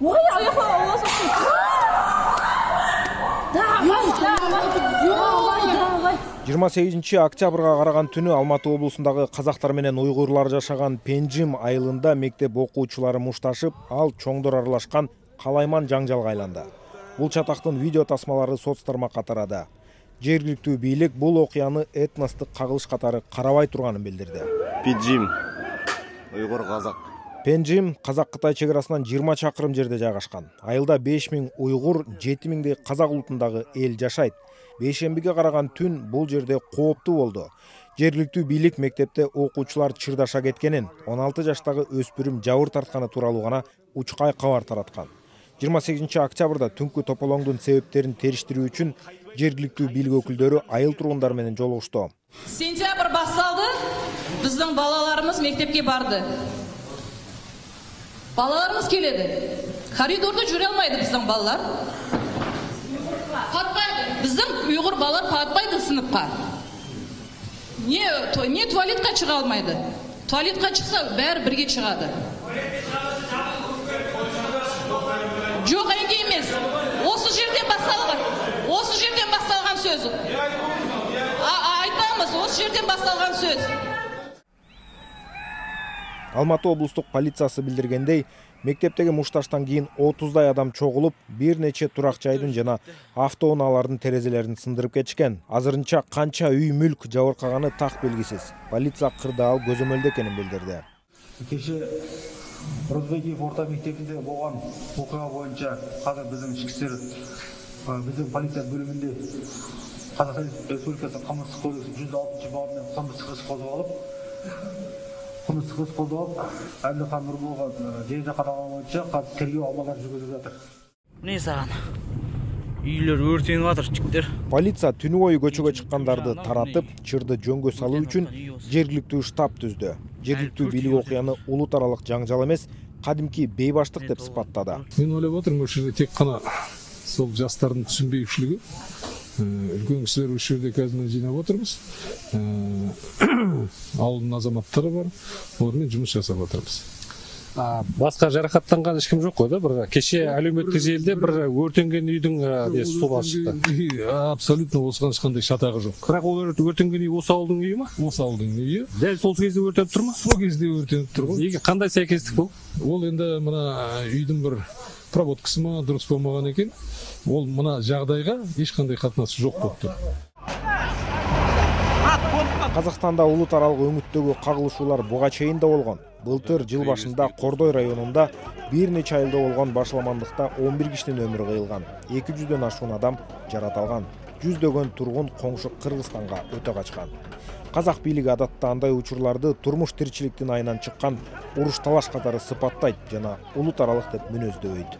Ой, аяққа давай. 28 октябрга караган түнү Алматы облусундагы казактар менен уйгурлар жашаган Пенжим айылында мектеп окуучулары мушташып, ал чоңдор аралашкан калайман жаңжалга айланды. Бул чатактын видео тасмалары соц тармакка тарады. Жергиликтүү бийлик бул окуяны этностук кагылыш катары карабай турганын билдирди. Пенжим уйгур казак. Пенжим Казак-Кытай чекарасынан 20 чакырым жерде жайгашкан. Айылда 5000 уйгур, 7000дей казак улутундагы эл жашайт. Бейшембиге караган түн бул жерде кооптуу болду. Жергиликтүү бийлик мектепте окуучулар чырдаша кеткенин, 16 жаштагы өспүрүм жабыр тартканы тууралуу гана учкай кабар тараткан. 28 октябрда түнкү тополоңдун себептерин териштирүү үчүн жергиликтүү бийлик өкүлдөрү айыл тургундары менен жолугушту. Сентябрь башталды, биздин балаларыбыз мектепке барды. Балаларыбыз келеді. Коридорда жүре алмайды биздин балалар. Патпайды. Биздин уйгур балалар патпайды сыныпка. Не туалетке чыга алмайды. Туалетке чыкса баары бирге чыгады. Жок, эки эмес. Осы жерден башталган сөз. Айтамыз, осы жерден башталган сөз. Алматы облустук полициясы билдиргендей, мектептеги мушташтан кийин 30дай адам чогулуп, бир нече турак жайдын жана автоунаалардын терезелерин сындырып кетишкен. Азырынча канча үй мүлк жабыркаганы так белгисиз. Полиция кырдаал көзөмөлдө экенин билдирди. Кеше Розбекиев орта мектебинде болгон окуя боюнча азыр биздин ички иштер биздин полиция бөлүмүндө Казакстан Республикасы Кылмыштык кодексинин 106-бабы менен кылмыштык іс козголуп, Әбдіхан Нұрболға жерде каталган боюнча тергөө амалдары жүргүзүлүп жатыр. Эмне саган? Үйлөр өртөнүп атыр, жигиттер. Полиция түнү бою көчөгө чыккандарды таратып, чырды жөнгө салуу үчүн жергиликтүү штаб түздү. Жергиликтүү бийлик окуяны улут аралык жаңжал эмес, кадимки бейбаштык деп сыпаттады. Мен ойлоп отурмун, ушул тек гана сол жаштардын түшүнбөйүшлүгү. Үлкен кишилер ушул жерде қазір жинап отырмыз. Ауылдың азаматтары бар. Олармен жұмыс жасап отырмыз. Басқа жарақаттанған ешкім жоқ қой да? Бір кеше әлеуметтік желіде бір өртенген үйдің суға шықты. Абсолютно осыған ешқандай шатағы жоқ. Бірақ ол өртенген үй осы ауылдың үйі ма? Осы ауылдың үйі. Дәл сол кезде өртеніп тұр ма? Сол кезде өртеніп тұр ғой. Қандай сәйкестік бұл? Ол енді мына үйдің бір проводкасы ма дұрыс болмаған екен. Ол мына жағдайға ешқандай қатынасы жоқ болып тұр. Казакстанда улут аралык өңүттөгү кагылышуулар буга чейин да болгон. Былтыр жыл башында Кордой районунда бир нече айылда болгон башаламандыкта 11 кишинин өмүрү кыйылган. 200дөн ашуун адам жараталган. Жүздөгөн тургун коңшу Кыргызстанга өтө качкан. Казак бийлиги адатта андай учурларды турмуш тиричиликтин айынан чыккан уруш талаш катары сыпаттайт жана улут аралык деп мүнөздөбөйт.